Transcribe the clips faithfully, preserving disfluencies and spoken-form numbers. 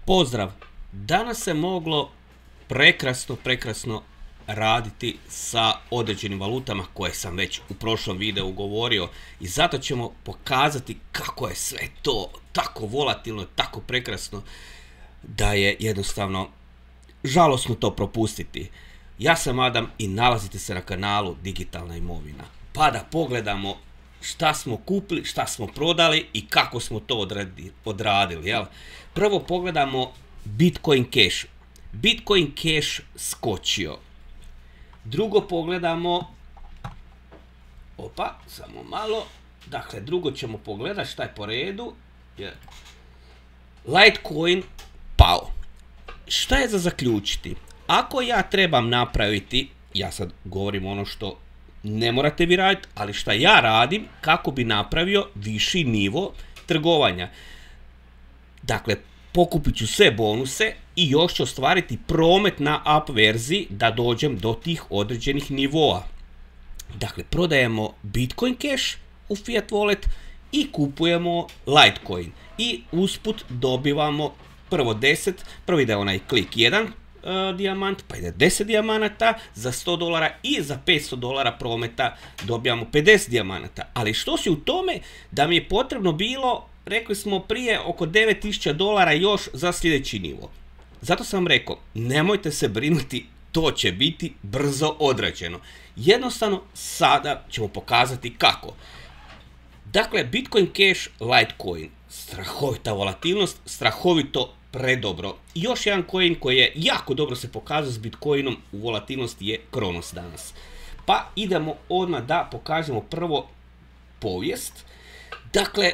Pozdrav! Danas se moglo prekrasno, prekrasno raditi sa određenim valutama koje sam već u prošlom videu govorio i zato ćemo pokazati kako je sve to tako volatilno, tako prekrasno da je jednostavno žalosno to propustiti. Ja sam Adam i nalazite se na kanalu Digitalna imovina. Pa da pogledamo šta smo kupili, šta smo prodali i kako smo to odradili. Jel? Prvo pogledamo Bitcoin Cash. Bitcoin Cash skočio. Drugo pogledamo, opa, samo malo, dakle drugo ćemo pogledati šta je po redu. Litecoin pao. Šta je za zaključiti? Ako ja trebam napraviti, ja sad govorim ono što ne morate vi raditi, ali šta ja radim kako bi napravio viši nivo trgovanja. Dakle, pokupit ću sve bonuse i još ću ostvariti promet na up verziji da dođem do tih određenih nivoa. Dakle, prodajemo Bitcoin Cash u Fiat Wallet i kupujemo Litecoin. I usput dobivamo prvo deset, prvo ide onaj klik jedan uh, dijamant, pa ide deset dijamanata za sto dolara i za petsto dolara prometa dobijamo pedeset dijamanata. Ali što si u tome da mi je potrebno bilo, rekli smo prije, oko devet tisuća dolara još za sljedeći nivo. Zato sam rekao, nemojte se brinuti, to će biti brzo odrađeno. Jednostavno, sada ćemo pokazati kako. Dakle, Bitcoin Cash, Litecoin, strahovita volatilnost, strahovito predobro. I još jedan coin koji je jako dobro se pokazao s Bitcoinom u volatilnosti je Kronos danas. Pa idemo odmah da pokažemo prvo povijest. Dakle,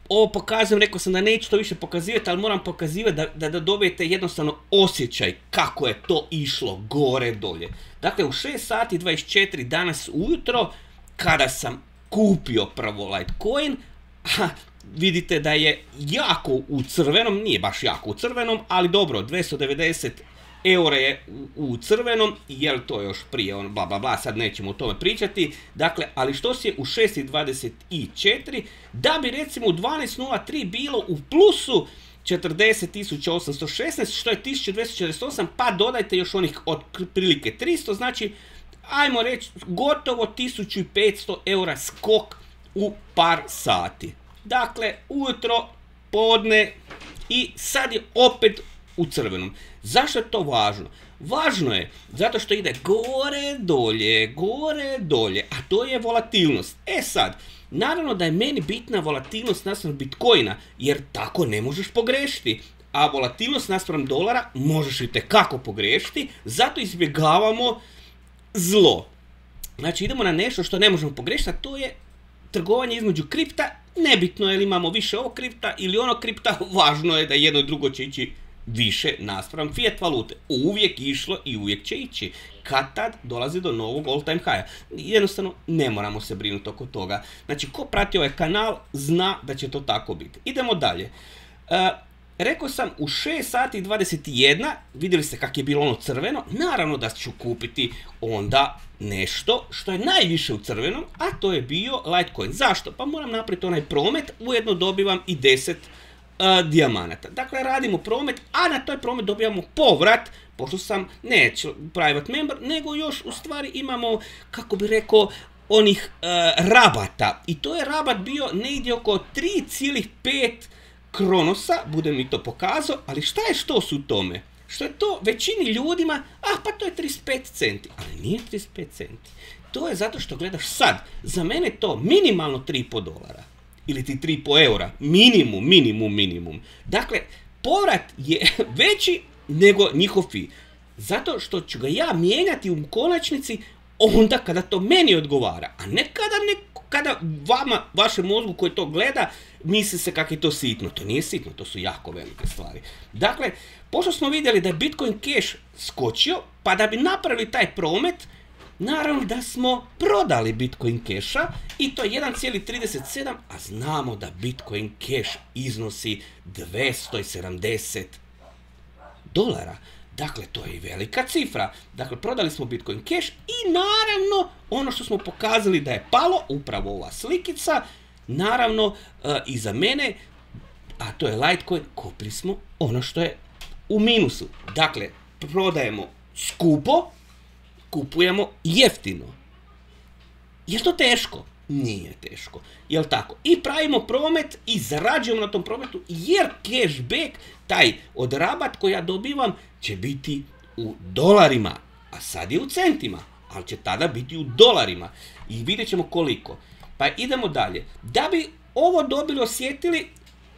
ovo pokazujem, rekao sam da neću to više pokazivati, ali moram pokazivati da, da, da dobijete jednostavno osjećaj kako je to išlo gore dolje. Dakle, u šest sati dvadeset četiri danas ujutro, kada sam kupio prvo Litecoin, a vidite da je jako u crvenom, nije baš jako u crvenom, ali dobro, dvjesto devedeset eura je u, u crvenom, jer to još prije, on bla bla bla, sad nećemo o tome pričati. Dakle, ali što se je u šest dvadeset četiri, da bi recimo u dvanaest nula tri bilo u plusu četrdeset tisuća osamsto šesnaest, što je tisuću dvjesto četrdeset osam, pa dodajte još onih otprilike tristo, znači, ajmo reći, gotovo tisuću petsto eura skok u par sati. Dakle, ujutro, podne i sad je opet u crvenom. Zašto je to važno? Važno je zato što ide gore, dolje, gore, dolje, a to je volatilnost. E sad, naravno da je meni bitna volatilnost naspram Bitcoina, jer tako ne možeš pogrešiti. A volatilnost naspram dolara možeš i tekako pogrešiti, zato izbjegavamo zlo. Znači, idemo na nešto što ne možemo pogrešiti, a to je trgovanje između kripta. Nebitno je li imamo više ovog kripta ili onog kripta, važno je da jedno i drugo će ići više naspram fiat valute. Uvijek išlo i uvijek će ići. Kad tad dolazi do novog all time high-a. Jednostavno ne moramo se brinuti oko toga. Znači, ko prati ovaj kanal zna da će to tako biti. Idemo dalje. Uh, rekao sam u šest sati dvadeset jedan, vidjeli ste kako je bilo ono crveno, naravno da ću kupiti onda nešto što je najviše u crvenom, a to je bio Litecoin. Zašto? Pa moram napraviti onaj promet, ujedno dobivam i deset uh, dijamanata. Dakle, radimo promet, a na toj promet dobijamo povrat, pošto sam ne private member, nego još u stvari imamo, kako bi rekao, onih uh, rabata. I to je rabat bio negdje oko tri zarez pet Kronosa, budem mi to pokazao, ali šta je što su u tome? Što je to većini ljudima, a pa to je trideset pet centi, ali nije trideset pet centi. To je zato što gledaš sad, za mene to minimalno tri i pol dolara, ili ti tri i pol eura, minimum, minimum, minimum. Dakle, povrat je veći nego njihov fee, zato što ću ga ja mijenjati u konačnici onda kada to meni odgovara, a ne kada ne kada vama, vašem mozgu koji to gleda, misli se kako je to sitno. To nije sitno, to su jako velike stvari. Dakle, pošto smo vidjeli da je Bitcoin Cash skočio, pa da bi napravili taj promet, naravno da smo prodali Bitcoin Cash-a i to jedan zarez trideset sedam, a znamo da Bitcoin Cash iznosi dvjesto sedamdeset dolara. Dakle, to je i velika cifra. Dakle, prodali smo Bitcoin Cash i naravno ono što smo pokazali da je palo, upravo ova slikica, naravno uh, iza mene a to je Litecoin, kupili smo ono što je u minusu. Dakle, prodajemo skupo, kupujemo jeftino. Je to teško? Nije teško. Jel tako? I pravimo promet i zarađujemo na tom prometu, jer cashback, taj od rabat koji ja dobivam, će biti u dolarima, a sad je u centima, ali će tada biti u dolarima. I vidjet ćemo koliko. Pa idemo dalje. Da bi ovo dobili, osjetili,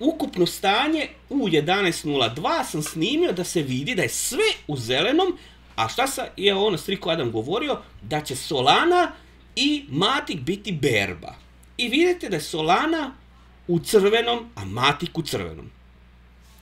ukupno stanje u jedanaest nula dva sam snimio da se vidi da je sve u zelenom, a šta sa, je ono Striko Adam govorio, da će Solana i Matic biti berba. I vidite da je Solana u crvenom, a Matic u crvenom.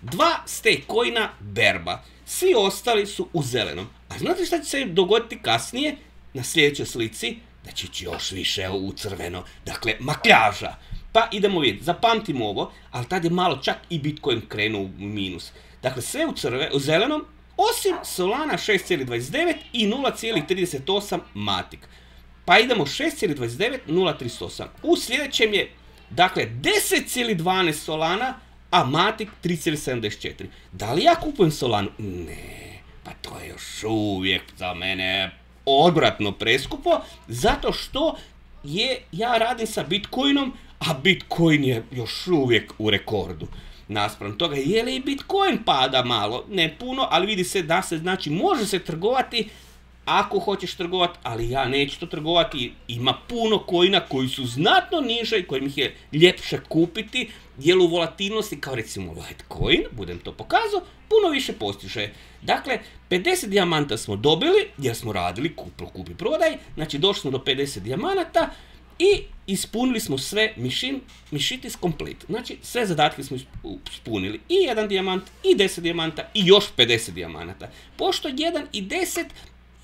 Dva stakecoina berba. Svi ostali su u zelenom. A znate šta će se dogoditi kasnije? Na sljedećoj slici da će ići još više u crveno. Dakle, makljaža. Pa idemo vidjeti. Zapamtimo ovo, ali tad je malo čak i Bitcoin krenuo u minus. Dakle, sve u, crve, u zelenom, osim Solana šest zarez dvadeset devet i nula zarez trideset osam Matic. Pa idemo šest zarez dvadeset devet, nula zarez trideset osam. U sljedećem je, dakle, deset zarez dvanaest Solana, a Matic tri zarez sedamdeset četiri. Da li ja kupujem Solanu? Ne, pa to je još uvijek za mene odvratno preskupo, zato što je, ja radim sa Bitcoinom, a Bitcoin je još uvijek u rekordu. Naspram toga, je li i Bitcoin pada malo? Ne puno, ali vidi se da se, znači, može se trgovati ako hoćeš trgovati, ali ja neću to trgovati. Ima puno coina koji su znatno niže i kojim ih je ljepše kupiti, jer u volatilnosti, kao recimo Litecoin, budem to pokazao, puno više postiže. Dakle, pedeset dijamanta smo dobili, jer smo radili kupi, kupi prodaj, znači došli smo do pedeset dijamanata i ispunili smo sve mission, mission is complete. Znači, sve zadatke smo ispunili. I jedan dijamant, i deset dijamanta, i još pedeset dijamanata. Pošto jedan i deset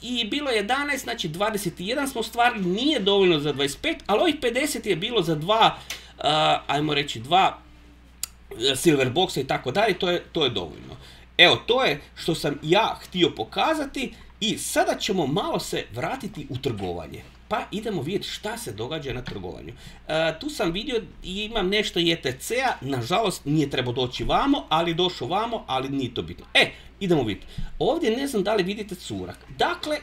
i bilo jedanaest, znači dvadeset jedan smo ostvarili, nije dovoljno za dvadeset pet, ali ovih pedeset je bilo za dva, uh, ajmo reći, dva silver boxa i tako dalje, to je, to je dovoljno. Evo, to je što sam ja htio pokazati i sada ćemo malo se vratiti u trgovanje. Pa idemo vidjeti šta se događa na trgovanju. E, tu sam vidio i imam nešto E T C-a, nažalost nije trebao doći vamo, ali došao vamo, ali nije to bitno. E, idemo vidjeti. Ovdje ne znam da li vidite curak. Dakle,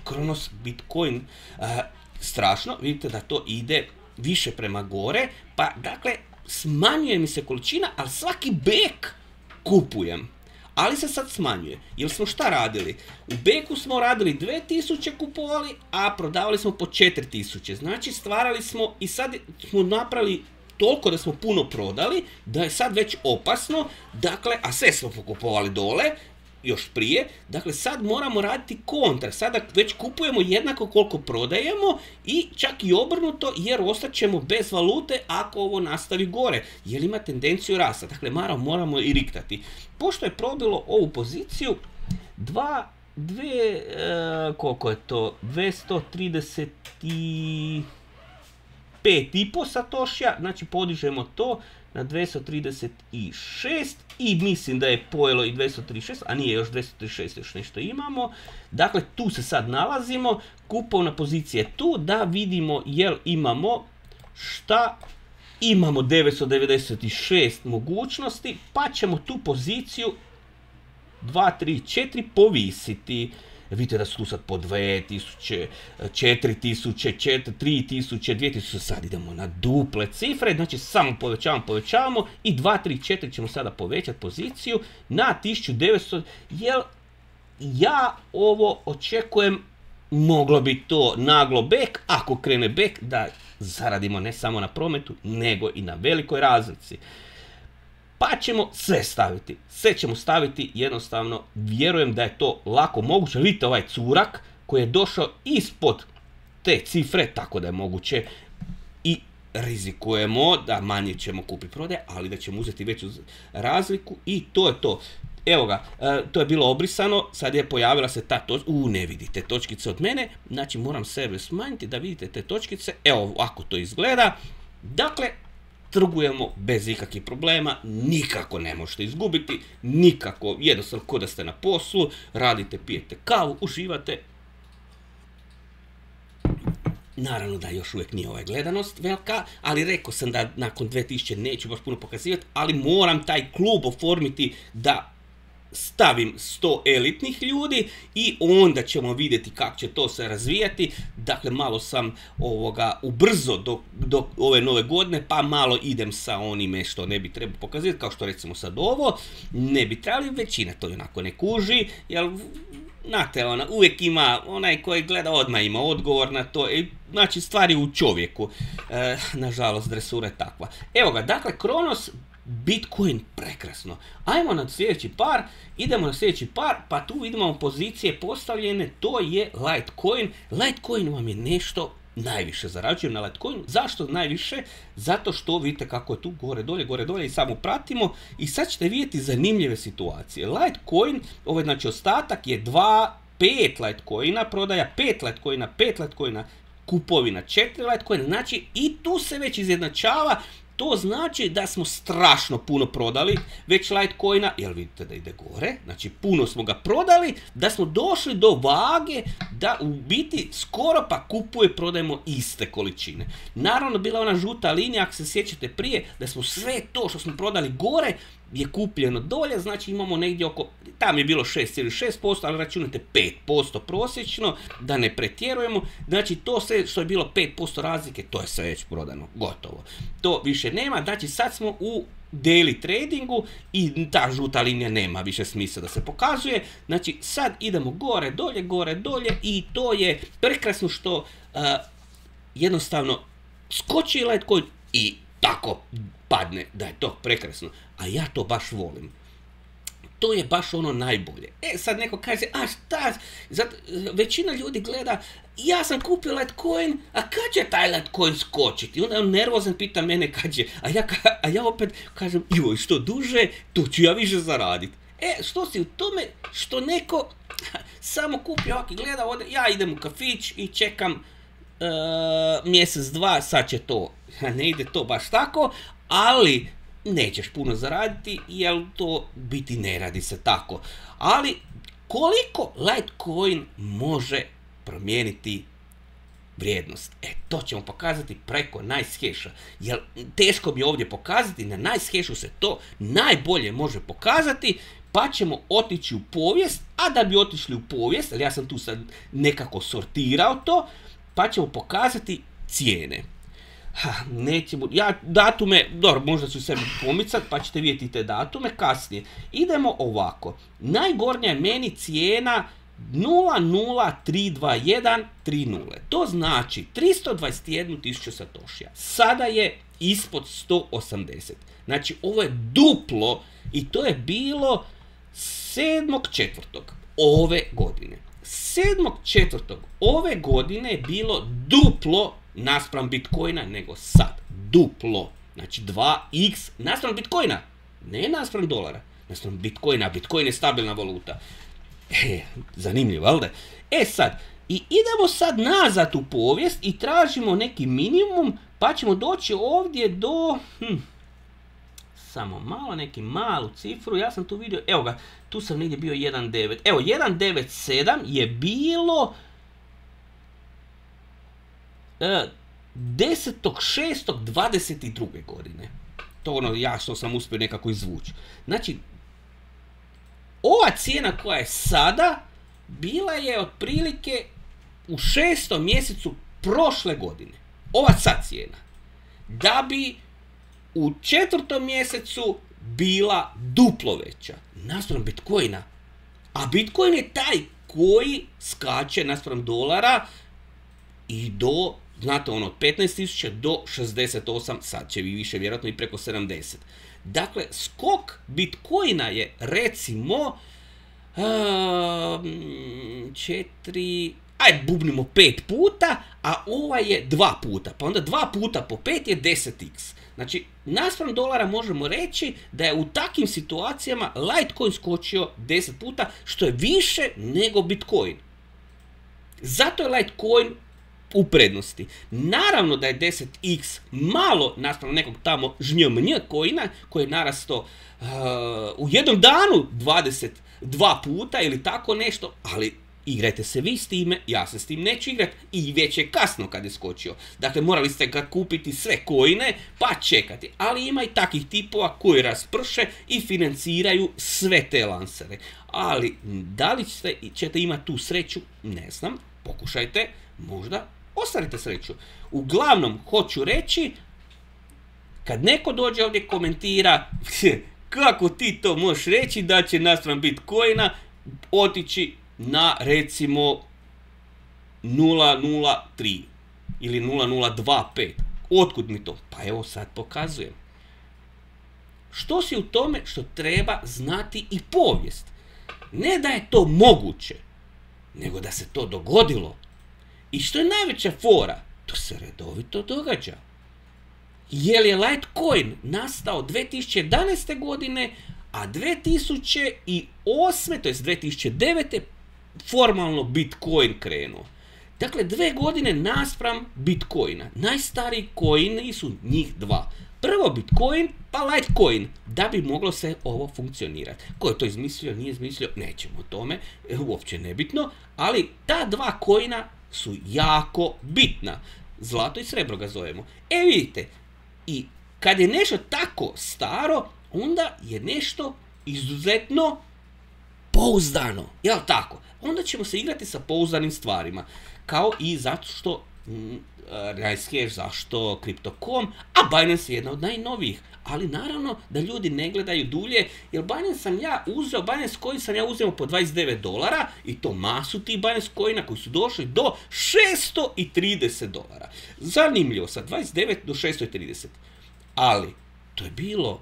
Kronos Bitcoin, e, strašno, vidite da to ide više prema gore, pa dakle, smanjuje mi se količina, ali svaki bek kupujem. Ali se sad smanjuje, jer smo šta radili? U beku smo radili dvije tisuće kupovali, a prodavali smo po četiri tisuće. Znači stvarali smo i sad smo napravili toliko da smo puno prodali, da je sad već opasno, dakle, a sve smo pokupovali dole, još prije, dakle sad moramo raditi kontra, sada već kupujemo jednako koliko prodajemo i čak i obrnuto, jer ostaćemo bez valute ako ovo nastavi gore, jer ima tendenciju rasta, dakle moramo, moramo i riktati. Pošto je probilo ovu poziciju, dva, dve, e, koliko je to, dvjesto trideset pet i po satošija, znači podižemo to na dvjesto trideset šest i mislim da je pojelo i dvjesto trideset šest, a nije, još dvjesto trideset šest, još nešto imamo. Dakle, tu se sad nalazimo, kupovna pozicija je tu, da vidimo jel imamo šta, imamo devetsto devedeset šest mogućnosti, pa ćemo tu poziciju dva, tri, četiri povisiti. Vidite da su tu sad po dvije tisuće, četiri tisuće, tri tisuće, dvije tisuće, sad idemo na duple cifre, znači samo povećavamo, povećavamo i dva, tri, četiri ćemo sada povećati poziciju na tisuću devetsto, jer ja ovo očekujem, moglo bi to naglo back, ako krene back, da zaradimo ne samo na prometu, nego i na velikoj razlici. Pa ćemo sve staviti, sve ćemo staviti, jednostavno vjerujem da je to lako moguće. Vidite ovaj curak koji je došao ispod te cifre, tako da je moguće i rizikujemo da manje ćemo kupiti prodaje, ali da ćemo uzeti veću razliku i to je to. Evo ga, to je bilo obrisano, sad je pojavila se ta točka, u ne vidite točkice od mene, znači moram sebe smanjiti da vidite te točkice, evo ovako to izgleda, dakle, trgujemo bez ikakvih problema, nikako ne možete izgubiti, nikako, jednostavno ko da ste na poslu, radite, pijete kavu, uživate. Naravno da još uvijek nije ovaj gledanost velika, ali rekao sam da nakon dvije tisuće neću baš puno pokazivati, ali moram taj klub oformiti da stavim sto elitnih ljudi i onda ćemo vidjeti kako će to se razvijati. Dakle, malo sam ovoga ubrzo do, do ove nove godine, pa malo idem sa onime što ne bi trebao pokazati, kao što recimo sad ovo, ne bi trebali, većina to onako ne kuži, jer znate, ona, uvijek ima, onaj koji gleda odmah ima odgovor na to, i, znači stvari u čovjeku, e, nažalost dresura je takva. Evo ga, dakle, Kronos, Bitcoin, prekrasno. Ajmo na sljedeći par, idemo na sljedeći par, pa tu vidimo pozicije postavljene, to je Litecoin. Litecoin vam je nešto najviše zarađujem na Litecoinu. Zašto najviše? Zato što vidite kako je tu gore dolje, gore dolje i samo pratimo i sad ćete vidjeti zanimljive situacije. Litecoin, ovaj znači ostatak je dva, pet Litecoina, prodaja pet Litecoina, pet Litecoina, kupovina četiri Litecoina, znači i tu se već izjednačava. To znači da smo strašno puno prodali već Litecoina, jer vidite da ide gore, znači puno smo ga prodali, da smo došli do vage da u biti skoro pa kupuje, prodajemo iste količine. Naravno, bila ona žuta linija, ako se sjećate prije, da smo sve to što smo prodali gore je kupljeno dolje, znači imamo negdje oko, tam je bilo šest zarez šest posto, ali računate pet posto prosječno, da ne pretjerujemo, znači to sve što je bilo pet posto razlike, to je sve već prodano, gotovo. To više nema, znači sad smo u daily tradingu i ta žuta linija nema više smisla da se pokazuje, znači sad idemo gore, dolje, gore, dolje i to je prekrasno što uh, jednostavno skoči Litecoin i tako padne, da je to prekrasno, a ja to baš volim. To je baš ono najbolje. E, sad neko kaže, a šta, zato, većina ljudi gleda, ja sam kupio Litecoin, a kad će taj Litecoin skočiti? I onda on nervozan pita mene kad će, a ja, a ja opet kažem, joj, što duže, tu ću ja više zaraditi. E, što si u tome, što neko samo kupi ovak i gleda, ode, ja idem u kafić i čekam uh, mjesec, dva, sad će to. Ne ide to baš tako, ali nećeš puno zaraditi, jer to biti ne radi se tako. Ali koliko Litecoin može promijeniti vrijednost? E, to ćemo pokazati preko NiceHasha, jer teško mi je ovdje pokazati, na NiceHashu se to najbolje može pokazati, pa ćemo otići u povijest, a da bi otišli u povijest, ali ja sam tu sad nekako sortirao to, pa ćemo pokazati cijene. Ha, nećemo, ja datume, dobro, možda ću sebi pomicat, pa ćete vidjeti te datume kasnije. Idemo ovako, najgornja je meni cijena nula nula tri dva jedan tri nula, to znači tristo dvadeset jedna tisuća satošija, sada je ispod sto osamdeset, znači ovo je duplo i to je bilo sedmog četvrtog ove godine. sedmog četvrtog ove godine je bilo duplo naspram Bitcoina nego sad. Duplo. Znači dva iks naspram Bitcoina. Ne naspram dolara. Naspram Bitcoina. Bitcoin je stabilna valuta. E, zanimljivo, valjda? E sad, i idemo sad nazad u povijest i tražimo neki minimum, pa ćemo doći ovdje do... Hm, samo malo, neki malu cifru, ja sam tu vidio, evo ga, tu sam negdje bio jedan devet, evo jedan devet sedam je bilo e, desetog šestog dvadeset druge godine. To ono ja što sam uspio nekako izvući. Znači, ova cijena koja je sada, bila je otprilike u šestom mjesecu prošle godine. Ova sad cijena. Da bi u četvrtom mjesecu bila duplo veća naspram Bitcoina. A Bitcoin je taj koji skače naspram dolara i do, znate ono, od petnaest tisuća do šezdeset osam, sad će vi više vjerojatno i preko sedamdeset. Dakle, skok Bitcoina je recimo četiri, aj bubnimo pet puta, a ova je dva puta, pa onda dva puta po pet je deset iks. Znači, naspram dolara možemo reći da je u takvim situacijama Litecoin skočio deset puta, što je više nego Bitcoin. Zato je Litecoin u prednosti. Naravno da je deset iks malo naspram nekog tamo žnjmnj coina koji je narasto uh, u jednom danu dvadeset dva puta ili tako nešto, ali igrajte se vi s time, ja se s tim neću igrat i već je kasno kad je skočio. Dakle, morali ste ga kupiti sve coine pa čekati. Ali ima i takvih tipova koji rasprše i financiraju sve te lansere. Ali da li ćete, ćete imati tu sreću, ne znam, pokušajte, možda ostvarite sreću. Uglavnom, hoću reći, kad neko dođe ovdje i komentira kako ti to možeš reći da će naspram Bitcoina otići na recimo nula nula tri ili nula nula dva pet. Otkud mi to? Pa evo sad pokazujem. Što si u tome što treba znati i povijest? Ne da je to moguće, nego da se to dogodilo. I što je najveća fora, to se redovito događa. Jer je Litecoin nastao dvije tisuće jedanaeste. godine, a dvije tisuće osme. to jest dvije tisuće devete. formalno Bitcoin krenuo. Dakle, dve godine naspram Bitcoina. Najstariji coini su njih dva. Prvo Bitcoin, pa Litecoin, da bi moglo se ovo funkcionirati. Ko je to izmislio, nije izmislio, nećemo o tome, uopće nebitno, ali ta dva coina su jako bitna. Zlato i srebro ga zovemo. E vidite, i kad je nešto tako staro, onda je nešto izuzetno pouzdano, jel tako? Onda ćemo se igrati sa pouzdanim stvarima, kao i zato što Ricecash, zašto Crypto dot com, a Binance je jedna od najnovijih, ali naravno da ljudi ne gledaju dulje, jer Binance sam ja uzeo, Binance coin sam ja uzeo po dvadeset devet dolara i to masu tih Binance coina koji su došli do šesto trideset dolara. Zanimljivo, sa dvadeset devet do šesto trideset. Ali, to je bilo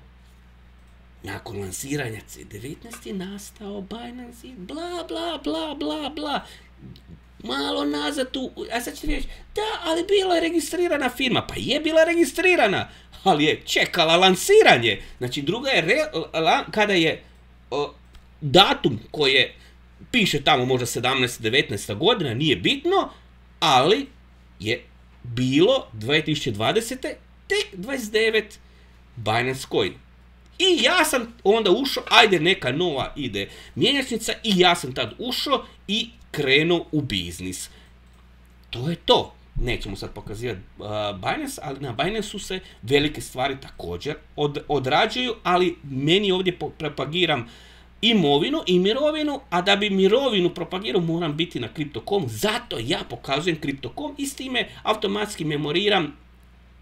nakon lansiranja C devetnaest je nastao Binance i bla bla bla bla bla. Malo nazad tu, a sad ćete reći, da, ali bila je registrirana firma. Pa je bila registrirana, ali je čekala lansiranje. Znači, druga je, re, la, kada je o, datum koje piše tamo možda sedamnaesta devetnaesta godina, nije bitno, ali je bilo dvije tisuće dvadesete. tek dvadeset devet Binance coin. I ja sam onda ušao, ajde neka nova ide mjenjačnica, i ja sam tad ušao i krenuo u biznis. To je to. Nećemo sad pokazivati uh, Binance, ali na Binance-u se velike stvari također od, odrađuju, ali meni ovdje propagiram imovinu i mirovinu, a da bi mirovinu propagirao moram biti na Crypto dot com, zato ja pokazujem Crypto dot com i s time automatski memoriram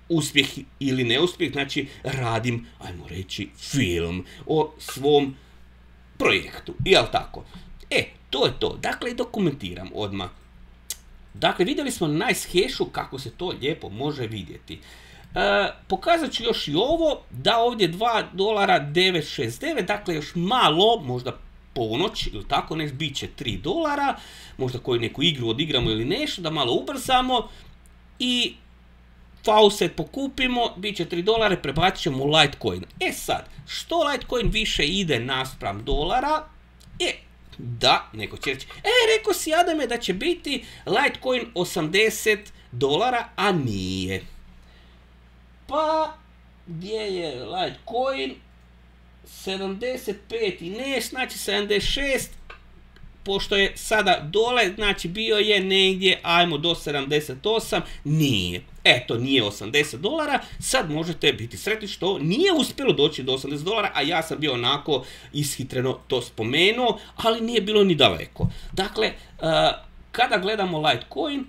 uspjeh ili neuspjeh, znači radim, ajmo reći, film o svom projektu, jel tako? E, to je to, dakle dokumentiram odmah. Dakle, vidjeli smo na Nicehashu kako se to lijepo može vidjeti. E, pokazat ću još i ovo, da ovdje dva dolara devet šezdeset devet, dakle još malo, možda ponoć ili tako, ne, bit će tri dolara, možda koju neku igru odigramo ili nešto, da malo ubrzamo i faucet pokupimo, bit će tri dolara, prebacit ćemo u Litecoin. E sad, što Litecoin više ide naspram dolara, e, da, neko će reći, e, rekao si Adame da će biti Litecoin osamdeset dolara, a nije. Pa, gdje je Litecoin? sedamdeset pet i ne, znači sedamdeset šest, pošto je sada dole, znači bio je negdje, ajmo do sedamdeset osam, nije. Eto, nije osamdeset dolara, sad možete biti sretni što nije uspjelo doći do osamdeset dolara, a ja sam bio onako ishitreno to spomenuo, ali nije bilo ni daleko. Dakle, uh, kada gledamo Litecoin,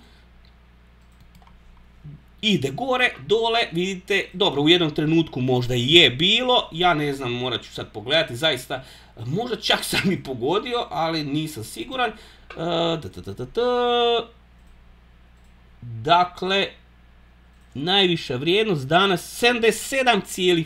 ide gore, dole, vidite, dobro, u jednom trenutku možda i je bilo, ja ne znam, morat ću sad pogledati, zaista, možda čak sam i pogodio, ali nisam siguran. Uh, da, da, da, da, da. Dakle, najviša vrijednost danas sedamdeset sedam zarez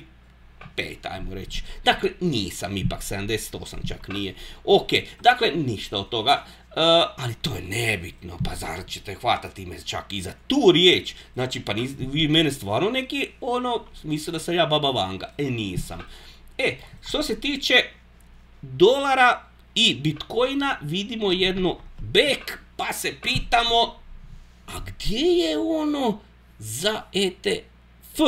pet, ajmo reći. Dakle, nisam ipak, sedamdeset osam čak nije. Ok, dakle, ništa od toga. Uh, ali to je nebitno, pa zar ćete hvatati me čak i za tu riječ? Znači, pa nis, vi mene stvarno neki, ono, misle da sam ja Baba Vanga. E, nisam. E, što se tiče dolara i Bitcoina, vidimo jedno back, pa se pitamo, a gdje je ono za E T F?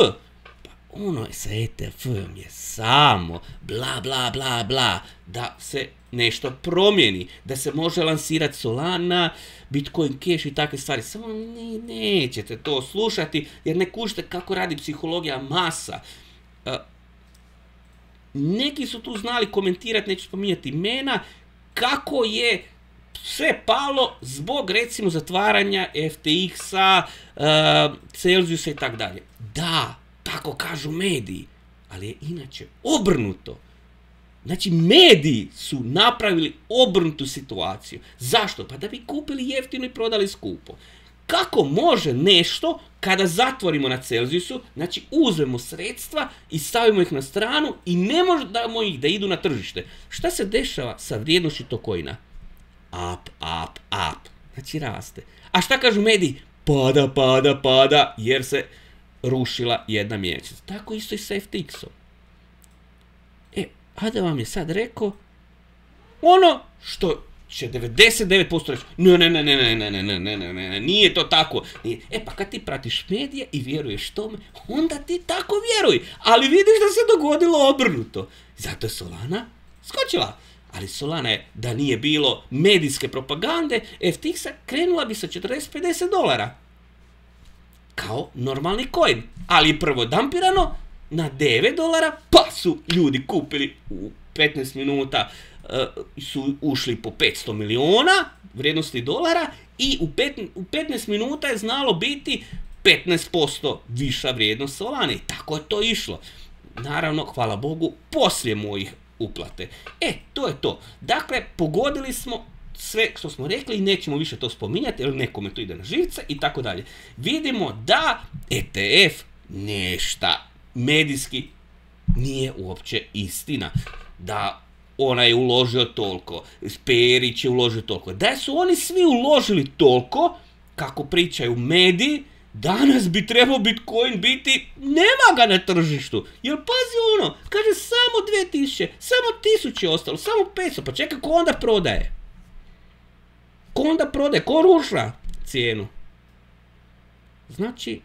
Pa ono sa E T F-om je samo bla bla bla bla, da se nešto promijeni, da se može lansirati Solana, Bitcoin Cash i takve stvari. Samo ne, nećete to slušati jer ne kužite kako radi psihologija masa. Uh, neki su tu znali komentirati, neću spominjati imena, kako je sve palo zbog recimo zatvaranja F T X-a, uh, Celsiusa i tako dalje. Da, tako kažu mediji, ali je inače obrnuto. Znači, mediji su napravili obrnutu situaciju. Zašto? Pa da bi kupili jeftino i prodali skupo. Kako može nešto kada zatvorimo na Celsiusu, znači uzmemo sredstva i stavimo ih na stranu i ne možemo ih da idu na tržište. Šta se dešava sa vrijednošću tog coina? Up, up, up. Znači raste. A šta kažu mediji? Pada, pada, pada, jer se rušila jedna mjeseca. Tako isto i sa F T X-om. E, a da vam je sad rekao ono što će devedeset devet posto reći, ne, ne, ne, ne, ne, ne, ne, ne, ne, ne, ne, nije to tako. Nije. E pa kad ti pratiš medije i vjeruješ tome, onda ti tako vjeruj. Ali vidiš da se dogodilo obrnuto. Zato je Solana skočila. Ali Solana je, da nije bilo medijske propagande, F T X-a krenula bi sa četrdeset pedeset dolara. Kao normalni coin. Ali prvo dampirano na devet dolara, pa su ljudi kupili u petnaest minuta, uh, su ušli po petsto miliona vrijednosti dolara i u, pet, u petnaest minuta je znalo biti petnaest posto viša vrijednost Solane. I tako je to išlo. Naravno, hvala Bogu, poslije mojih uplate. E, to je to. Dakle, pogodili smo sve što smo rekli i nećemo više to spominjati, jer nekome to ide na živce i tako dalje. Vidimo da E T F nešta medijski nije uopće istina. Da ona je uložio toliko, Perić je uložio toliko. Da su oni svi uložili toliko, kako pričaju mediji, danas bi trebao Bitcoin biti, nema ga na tržištu. Jer pazi ono, kaže samo dvije tisuće, samo tisuće ostalo, samo petsto, pa čekaj, ko onda prodaje? Ko onda prodaje, ko ruša cijenu? Znači,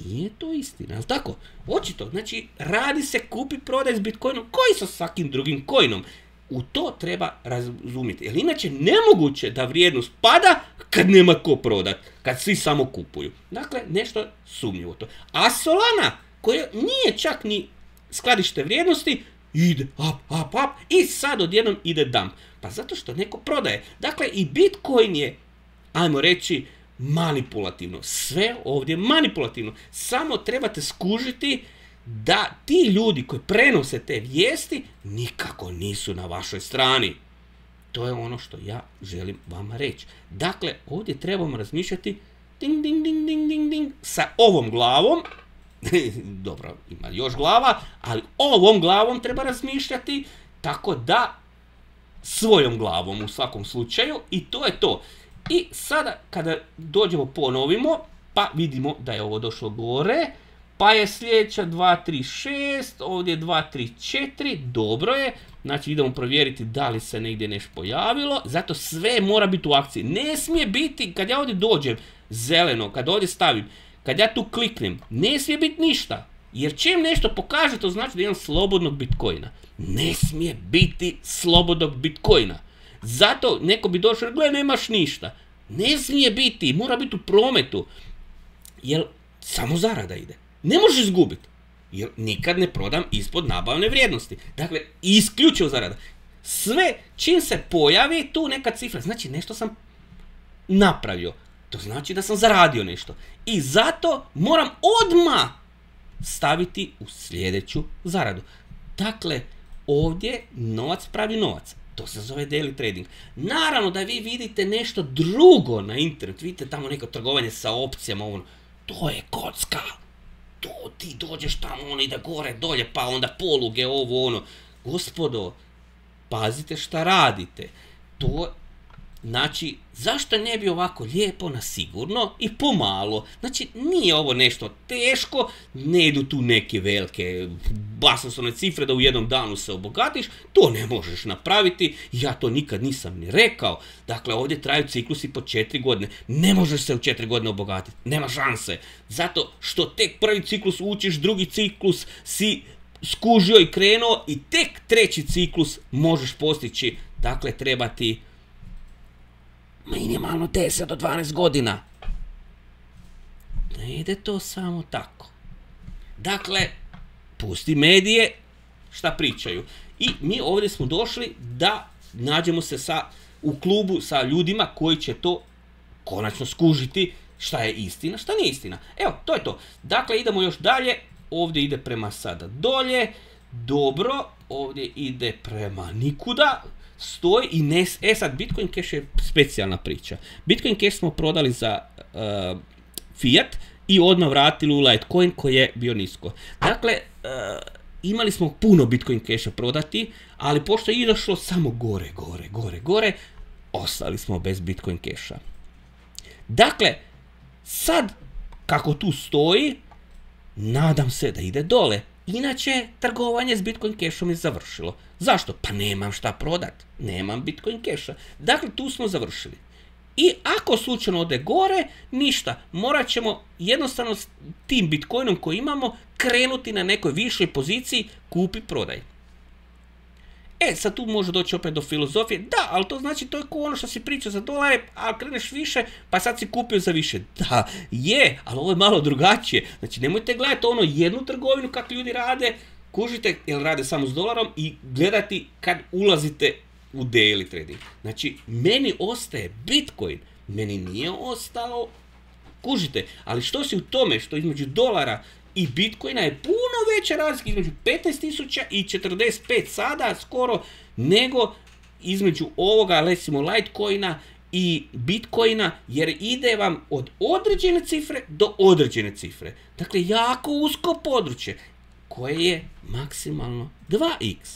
nije to istina, jel tako? Očito, znači, radi se kupi prodaj s Bitcoinom, koji sa svakim drugim coinom. U to treba razumjeti, jer inače nemoguće da vrijednost pada kad nema ko prodat, kad svi samo kupuju. Dakle, nešto sumnjivo to. A Solana, koja nije čak ni skladište vrijednosti, ide up, up, up i sad odjednom ide dump. Pa zato što neko prodaje. Dakle, i Bitcoin je, ajmo reći, manipulativno. Sve ovdje je manipulativno. Samo trebate skužiti da ti ljudi koji prenose te vijesti nikako nisu na vašoj strani. To je ono što ja želim vama reći. Dakle, ovdje trebamo razmišljati ding, ding, ding, ding, ding, ding, sa ovom glavom. Dobro, ima još glava, ali ovom glavom treba razmišljati, tako da svojom glavom u svakom slučaju, i to je to. I sada kada dođemo ponovimo, pa vidimo da je ovo došlo gore, pa je sljedeća dva tri šest, ovdje dva tri četiri, dobro je, znači idemo provjeriti da li se negdje nešto pojavilo, zato sve mora biti u akciji. Ne smije biti, kad ja ovdje dođem zeleno, kad ovdje stavim, kad ja tu kliknem, ne smije biti ništa. Jer čim nešto pokaže, to znači da imam slobodnog Bitcoina. Ne smije biti slobodnog Bitcoina. Zato neko bi došao, gle, nemaš ništa. Ne smije biti, mora biti u prometu. Jer samo zarada ide. Ne možeš izgubiti. Jer nikad ne prodam ispod nabavne vrijednosti. Dakle, isključivo zarada. Sve čim se pojavi tu neka cifra, znači nešto sam napravio. To znači da sam zaradio nešto. I zato moram odmah staviti u sljedeću zaradu. Dakle, ovdje novac pravi novac. To se zove daily trading. Naravno da vi vidite nešto drugo na internetu. Vidite tamo neko trgovanje sa opcijama. Ono. To je kocka. To ti dođeš tamo, ono ide gore, dolje, pa onda poluge, ovo, ono. Gospodo, pazite šta radite. To Znači, zašto ne bi ovako lijepo na sigurno i pomalo? Znači, nije ovo nešto teško, ne idu tu neke velike basnoslovne cifre da u jednom danu se obogatiš, to ne možeš napraviti, ja to nikad nisam ni rekao. Dakle, ovdje traju ciklusi po četiri godine, ne možeš se u četiri godine obogatiti, nema šanse, zato što tek prvi ciklus učiš, drugi ciklus si skužio i krenuo i tek treći ciklus možeš postići, dakle, treba ti minimalno deset do dvanaest godina. Ne ide to samo tako. Dakle, pusti medije šta pričaju. I mi ovdje smo došli da nađemo se sa, u klubu sa ljudima koji će to konačno skužiti šta je istina, šta nije istina. Evo, to je to. Dakle, idemo još dalje. Ovdje ide prema sada dolje. Dobro, ovdje ide prema nikuda. Stoji i ne, e sad Bitcoin Cash je specijalna priča. Bitcoin Cash smo prodali za uh, fiat i odmah vratili u Litecoin koji je bio nisko. Dakle, uh, imali smo puno Bitcoin Casha prodati, ali pošto je izašlo samo gore, gore, gore, gore, ostali smo bez Bitcoin Casha. Dakle, sad kako tu stoji, nadam se da ide dole. Inače, trgovanje s Bitcoin Cashom je završilo. Zašto? Pa nemam šta prodat. Nemam Bitcoin Casha. Dakle, tu smo završili. I ako slučajno ode gore, ništa. Morat ćemo jednostavno s tim Bitcoinom koji imamo krenuti na nekoj višoj poziciji, kupi, prodaj. E, sad tu može doći opet do filozofije. Da, ali to znači to je kao ono što si pričao za dolare, a kreneš više, pa sad si kupio za više. Da, je, ali ovo je malo drugačije. Znači, nemojte gledati ono jednu trgovinu kako ljudi rade, kužite, jer rade samo s dolarom i gledati kad ulazite u daily trading. Znači, meni ostaje Bitcoin, meni nije ostalo, kužite, ali što si u tome što između dolara i Bitcoina je puno veća razlika između petnaest tisuća i četrdeset pet sada skoro nego između ovoga, recimo, Litecoina i Bitcoina, jer ide vam od određene cifre do određene cifre. Dakle, jako usko područje koje je maksimalno dva iks.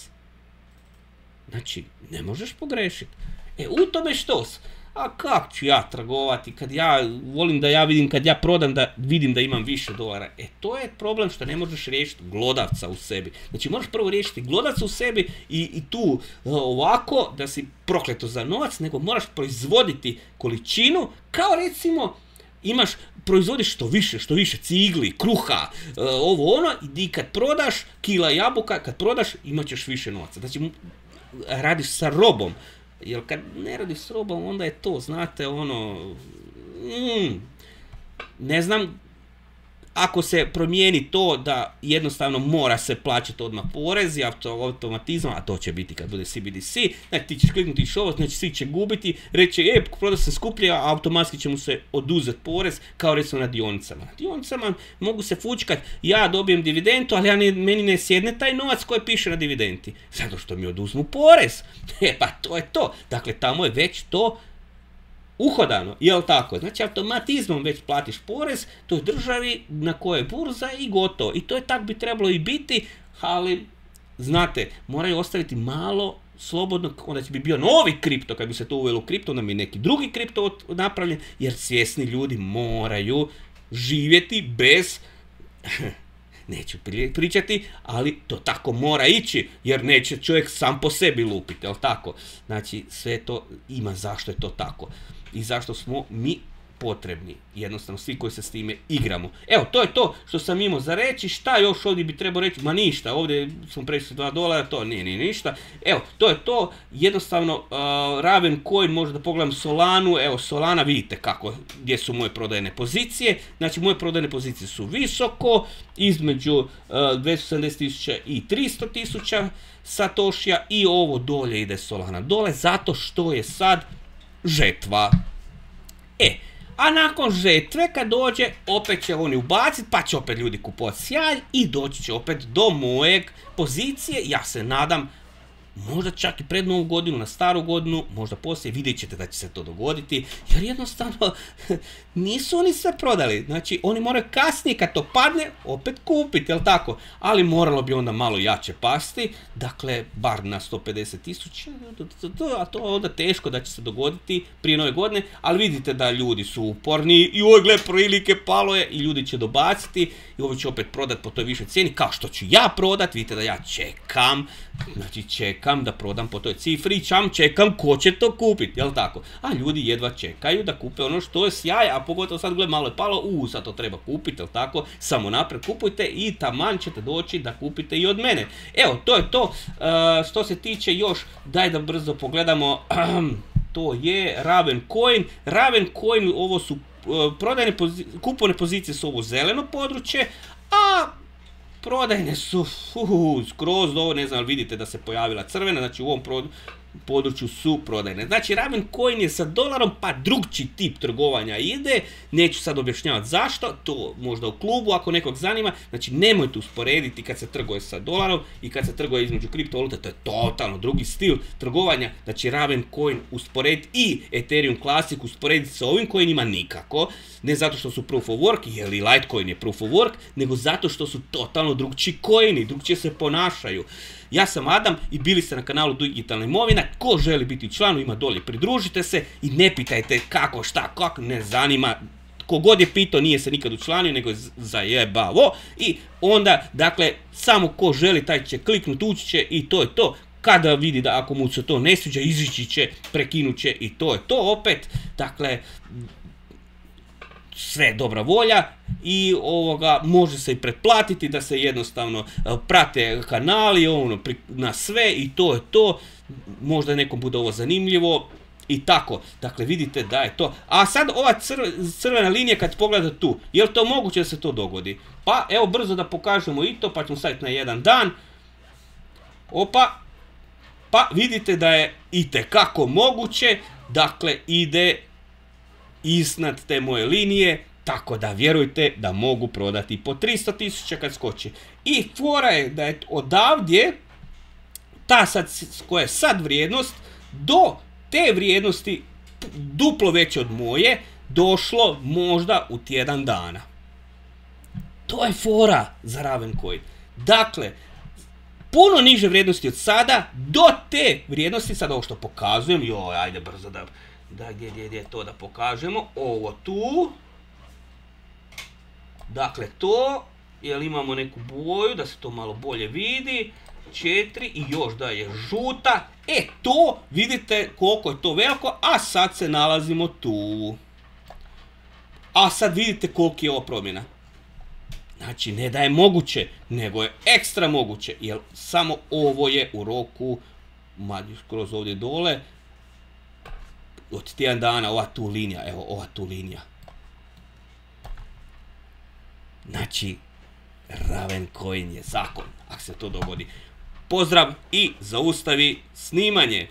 Znači, ne možeš pogrešiti. E, u tome što s? A kako ću ja trgovati kad ja volim da ja vidim, kad ja prodam da vidim da imam više dolara. E, to je problem što ne možeš riješiti glodavca u sebi. Znači, moraš prvo riješiti glodavca u sebi i, i tu ovako da si prokleto za novac, nego moraš proizvoditi količinu, kao recimo imaš, proizvodiš što više, što više cigli, kruha, ovo ono, i kad prodaš kila jabuka, kad prodaš imat ćeš više novaca. Znači, radiš sa robom. Jer kad ne radiš s robom, onda je to, znate, ono, mm, ne znam, ako se promijeni to da jednostavno mora se plaćati odmah porez i automatizam, a to će biti kad bude C B D C, znači ti ćeš kliknuti što, znači svi će gubiti, reći, e, proda se skuplje, a automatski će mu se oduzeti porez, kao recimo na dionicama. Na dionicama mogu se fučkat, ja dobijem dividendu, ali ja ne, meni ne sjedne taj novac koji piše na dividendi, zato što mi oduzmu porez. E, pa to je to. Dakle, tamo je već to uhodano, jel tako? Znači, automatizmom već platiš porez toj državi na kojoj je burza i gotovo. I to je tako bi trebalo i biti, ali, znate, moraju ostaviti malo slobodno, onda će bi bio novi kripto, kad bi se to uvelo u kripto, onda bi neki drugi kripto napravljen, jer svjesni ljudi moraju živjeti bez, neću pričati, ali to tako mora ići, jer neće čovjek sam po sebi lupiti, jel tako? Znači, sve to ima zašto je to tako. I zašto smo mi potrebni, jednostavno svi koji se s time igramo. Evo, to je to što sam imao za reći. Šta još ovdje bi trebao reći? Ma ništa, ovdje smo prešli dva dolara, to nije, nije ništa. Evo, to je to, jednostavno uh, Ravencoin, možda pogledam Solanu, evo Solana, vidite kako, gdje su moje prodajne pozicije. Znači, moje prodajne pozicije su visoko, između uh, dvjesto sedamdeset tisuća i tristo tisuća satošija, i ovo dolje ide Solana dole, zato što je sad žetva. E, a nakon žetve kad dođe, opet će oni ubaciti, pa će opet ljudi kupovati sjaj i doći će opet do mojeg pozicije, ja se nadam, možda čak i pred novu godinu, na staru godinu, možda poslije, vidjet ćete da će se to dogoditi, jer jednostavno nisu oni sve prodali. Znači, oni moraju kasnije, kad to padne, opet kupiti, jel tako? Ali moralo bi onda malo jače pasti, dakle, bar na sto pedeset tisuća, a to je onda teško da će se dogoditi prije nove godine, ali vidite da ljudi su uporni i oj, gle, prilike, palo je i ljudi će dobaciti i ovo će opet prodat po toj višoj cijeni, kao što ću ja prodat, vidite da ja čekam, znači čekam da prodam po toj cifri, čam čekam ko će to kupiti, jel tako? A ljudi jedva čekaju da kupe ono što je sjaj, a pogotovo sad, gle, malo je palo, u, sad to treba kupiti, jel tako? Samo naprijed kupujte i taman ćete doći da kupite i od mene. Evo, to je to. E, što se tiče još, daj da brzo pogledamo, to je Ravencoin. Ravencoin, ovo su prodajne pozicije, kupovne pozicije su ovo zeleno područje, a prodajne su uh, skroz ovo, ne znam ali vidite da se pojavila crvena, znači u ovom području su prodajne. Znači Ravencoin je sa dolarom, pa drugčiji tip trgovanja ide, neću sad objašnjavati zašto, to možda u klubu ako nekog zanima, znači nemojte usporediti kad se trguje sa dolarom i kad se trguje između kriptovalute, to je totalno drugi stil trgovanja, znači Ravencoin usporediti i Ethereum Classic usporediti sa ovim coinima nikako, ne zato što su proof of work, jer i Litecoin je proof of work, nego zato što su totalno drugčiji coini, drugčije se ponašaju. Ja sam Adam i bili ste na kanalu Digitalna imovina. Ko želi biti član, ima dolje, pridružite se i ne pitajte kako, šta, kako, ne zanima. Kogod je pitao nije se nikad učlanio, nego je zajebavo. I onda, dakle, samo ko želi taj će kliknuti, ući će i to je to. Kada vidi da ako mu se to ne sviđa, izići će, prekinut će i to je to opet. Dakle, sve dobra volja i ovoga može se i pretplatiti da se jednostavno prate kanali ono, na sve i to je to. Možda nekom bude ovo zanimljivo i tako. Dakle, vidite da je to. A sad ova crvena linija kad pogledate tu, je li to moguće da se to dogodi? Pa evo brzo da pokažemo i to, pa ćemo staviti na jedan dan. Opa. Pa vidite da je itekako moguće. Dakle, ide iznad te moje linije, tako da vjerujte da mogu prodati po tristo tisuća kad skoči. I fora je da je odavdje ta sad, koja je sad vrijednost, do te vrijednosti duplo veće od moje, došlo možda u tjedan dana. To je fora za Ravencoin. Dakle, puno niže vrijednosti od sada, do te vrijednosti, sad ovo što pokazujem, joj, ajde brzo da... Da, gdje, gdje, gdje je to da pokažemo, ovo tu, dakle to, jer imamo neku boju, da se to malo bolje vidi, četiri i još da je žuta, e to, vidite koliko je to veliko, a sad se nalazimo tu. A sad vidite koliko je ovo promjena. Znači, ne da je moguće, nego je ekstra moguće, jer samo ovo je u roku, mađu skroz ovdje dole, od tjedan dana, ova tu linija, evo, ova tu linija. Znači, Ravencoin je zakon, ako se to dogodi. Pozdrav i zaustavi snimanje.